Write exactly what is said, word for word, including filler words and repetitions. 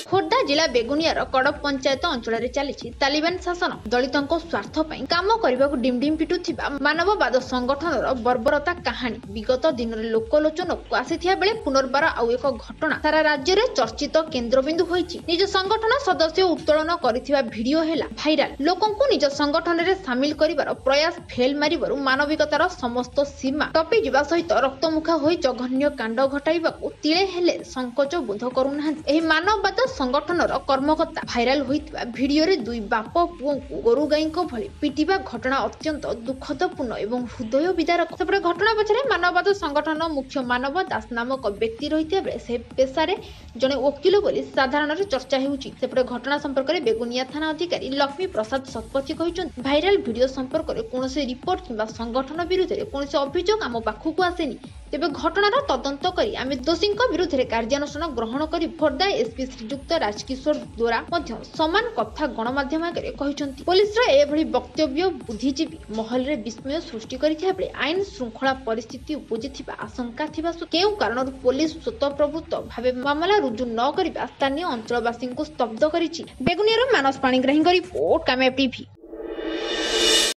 ଖୋର୍ଦ୍ଧା ଜିଲ୍ଲା ବେଗୁନିଆର କଡ଼ପ ପଞ୍ଚାୟତ ଅଞ୍ଚଳରେ ଚାଲିଛି ତାଲିବାନ ଶାସନ। ଦଳିତଙ୍କ ସ୍ୱାର୍ଥ ପାଇଁ କାମ କରିବାକୁ ଡିମ୍ଡିମ୍ ପିଟୁଥିବା ମାନବବାଦ ସଂଗଠନର ବର୍ବରତା କାହାଣୀ ବିଗତ ଦିନରେ ଲୋକଲୋଚନକୁ ଆସିଥିବା ବେଳେ ପୁନର୍ବାର ଆଉ ଏକ ଘଟଣା ସାରା ରାଜ୍ୟରେ ଚର୍ଚ୍ଚିତ କେନ୍ଦ୍ରବିନ୍ଦୁ ହୋଇଛି। ନିଜ ସଂଗଠନ ସଦସ୍ୟ ଉତ୍ତୋଳନ କରିଥିବା ଭିଡିଓ ହେଲା ଭାଇରାଲ। ଲୋକଙ୍କୁ ନିଜ ସଂଗଠନରେ ସାମିଲ କରିବାର ପ୍ରୟାସ ଫେଲ୍ ମାରିବାରୁ ମାନବିକତାର ସମସ୍ତ ସୀମା ଟପିଯିବା ସହିତ ରକ୍ତମୁଖା ହୋଇ ଜଘନ୍ୟ କାଣ୍ଡ ଘଟାଇବାକୁ ତିଳେ ହେଲେ ସଂକୋଚ ବୋଧ କରୁନାହାନ୍ତି ଏହି ମାନବବାଦ ସଂଗଠନର କର୍ମକର୍ତ୍ତା। ଭାଇରାଲ ହୋଇଥିବା ଭିଡିଓରେ ଦୁଇ ବାପ ପୁଅଙ୍କୁ ଗୋରୁ ଗାଈଙ୍କ ଭଳି ପିଟିବା ଘଟଣା ଅତ୍ୟନ୍ତ ଦୁଃଖଦପୂର୍ଣ୍ଣ ଏବଂ ହୃଦୟ ବିଦାରକ। ସେପଟେ ଘଟଣା ପଛରେ ମାନବବାଦ ସଂଗଠନ ମୁଖ୍ୟ ମାନବ ଦାସ ନାମକ ବ୍ୟକ୍ତି ରହିଥିବା ବେଳେ ସେ ପେଶାରେ ଜଣେ ଓକିଲ ବୋଲି ସାଧାରଣରେ ଚର୍ଚ୍ଚା ହେଉଛି। ସେପଟେ ଘଟଣା ସମ୍ପର୍କରେ ବେଗୁନିଆ ଥାନା ଅଧିକାରୀ ଲକ୍ଷ୍ମୀ ପ୍ରସାଦ ଶତପଥୀ କହିଛନ୍ତି, ଭାଇରାଲ ଭିଡିଓ ସମ୍ପର୍କରେ କୌଣସି ରିପୋର୍ଟ କିମ୍ବା ସଂଗଠନ ବିରୁଦ୍ଧରେ କୌଣସି ଅଭିଯୋଗ ଆମ ପାଖକୁ ଆସିନି। ତେବେ ଘଟଣାର ତଦନ୍ତ କରି ଆମେ ଦୋଷୀଙ୍କ ବିରୁଦ୍ଧରେ କାର୍ଯ୍ୟାନୁଷ୍ଠାନ ଗ୍ରହଣ କରି। ଖୋର୍ଦ୍ଧା ଏସ୍ପି ଶ୍ରୀଯୁକ୍ତ ରାଜକିଶୋର ଦୋରା ମଧ୍ୟ ସମାନ କଥା ଗଣମାଧ୍ୟମ ଆଗରେ କହିଛନ୍ତି। ପୋଲିସର ଏଭଳି ବକ୍ତବ୍ୟ ବୁଦ୍ଧିଜୀବୀ ମହଲରେ ବିସ୍ମୟ ସୃଷ୍ଟି କରିଥିବା ବେଳେ ଆଇନ ଶୃଙ୍ଖଳା ପରିସ୍ଥିତି ଉପୁଜିଥିବା ଆଶଙ୍କା ଥିବା କେଉଁ କାରଣରୁ ପୋଲିସ ସ୍ୱତଃପ୍ରବୃତ୍ତ ଭାବେ ମାମଲା ରୁଜୁ ନ କରିବା ସ୍ଥାନୀୟ ଅଞ୍ଚଳବାସୀଙ୍କୁ ସ୍ତବ୍ଧ କରିଛି। ବେଗୁନିଆରୁ ମାନସ ପାଣିଗ୍ରାହୀଙ୍କ ରିପୋର୍ଟ, କାମ୍ୟା ଟିଭି।